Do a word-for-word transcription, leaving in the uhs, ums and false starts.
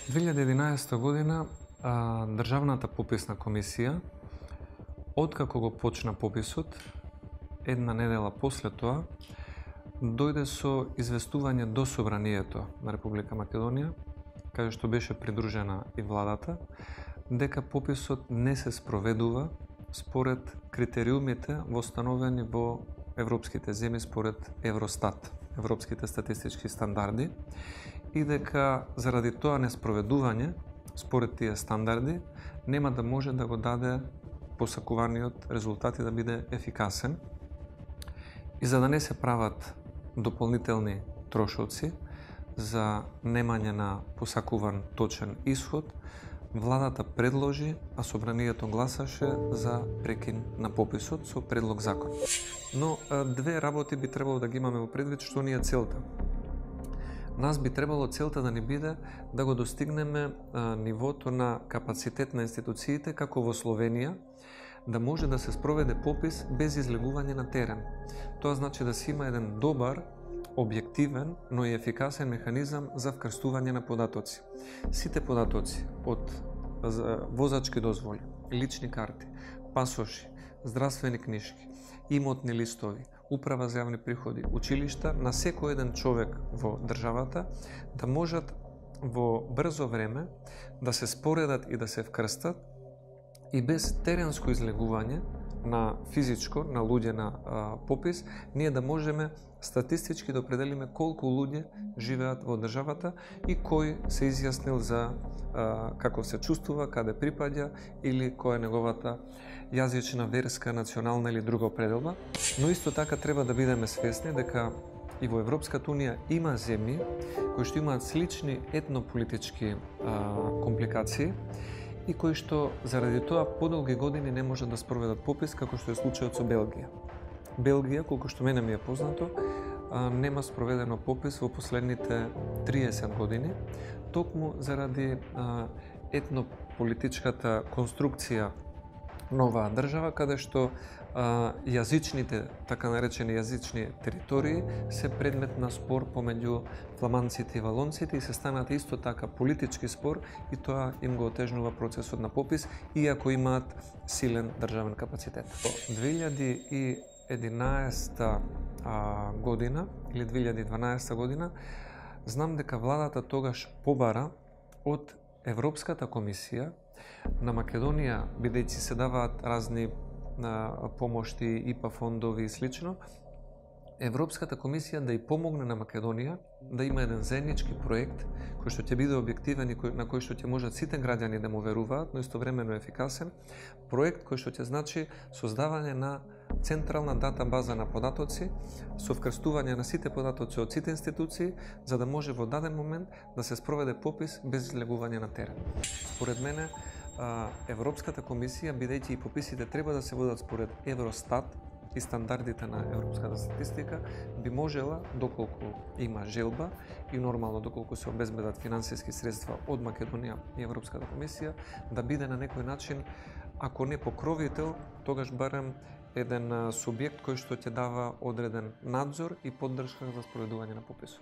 две илјади и единаесета година а, Државната пописна комисија, откако го почна пописот, една недела после тоа, дојде со известување до Собранието на Република Македонија, каде што беше придружена и владата, дека пописот не се спроведува според критериумите востановени во европските земји според Евростат, европските статистички стандарди, и дека заради тоа неспроведување според тие стандарди нема да може да го даде посакуваниот резултат и да биде ефикасен. И за да не се прават дополнителни трошоци за немање на посакуван точен исход, владата предложи, а Собранието гласаше за прекин на пописот со предлог закон. Но две работи би требало да ги имаме во предвид, што ни е целта. Нас би требало целта да ни биде да го достигнеме а, нивото на капацитет на институциите, како во Словенија, да може да се спроведе попис без излегување на терен. Тоа значи да се има еден добар, објективен, но и ефикасен механизам за вкрстување на податоци. Сите податоци од возачки дозволи, лични карти, пасоши, здравствени книжки, имотни листови, управа за јавни приходи, училишта, на секој еден човек во државата да можат во брзо време да се споредат и да се вкрстат и без теренско излегување на физичко, на луѓе на а, попис, ние да можеме статистички да определиме колку луѓе живеат во државата и кој се изјаснил за а, како се чувствува, каде припаѓа или која е неговата јазична, верска, национална или друга определба. Но исто така треба да бидеме свесни дека и во Европската унија има земји кои што имаат слични етнополитички а, компликации и кои што заради тоа подолги години не можат да спроведат попис, како што е случајот со Белгија. Белгија, колку што мене ми е познато, нема спроведено попис во последните триесет години, токму заради етнополитичката конструкција на оваа држава, каде што а, јазичните, така наречени јазични територии се предмет на спор помеѓу фламанците и валонците и се станат исто така политички спор и тоа им го отежнува процесот на попис, иако имаат силен државен капацитет. две илјади и единаесета а, година или две илјади и дванаесета година знам дека владата тогаш побара од Европската комисија на Македонија, бидејќи се даваат разни а, помошти, ИПА фондови и слично, Европската комисија да ја помогне на Македонија да има еден заеднички проект кој што ќе биде објективен и кој, на кој што ќе можат сите граѓани да му веруваат, но истовремено ефикасен, проект кој што ќе значи создавање на централна дата база на податоци со вкрстување на сите податоци од сите институции, за да може во даден момент да се спроведе попис без излегување на терен. Според мене, Европската комисија, бидејќи и пописите треба да се водат според Евростат и стандардите на европската статистика, би можела, доколку има желба и нормално доколку се обезбедат финансиски средства од Македонија и Европската комисија, да биде на некој начин, ако не покровител, тогаш барем еден субјект кој што ќе дава одреден надзор и поддршка за спроведување на пописот.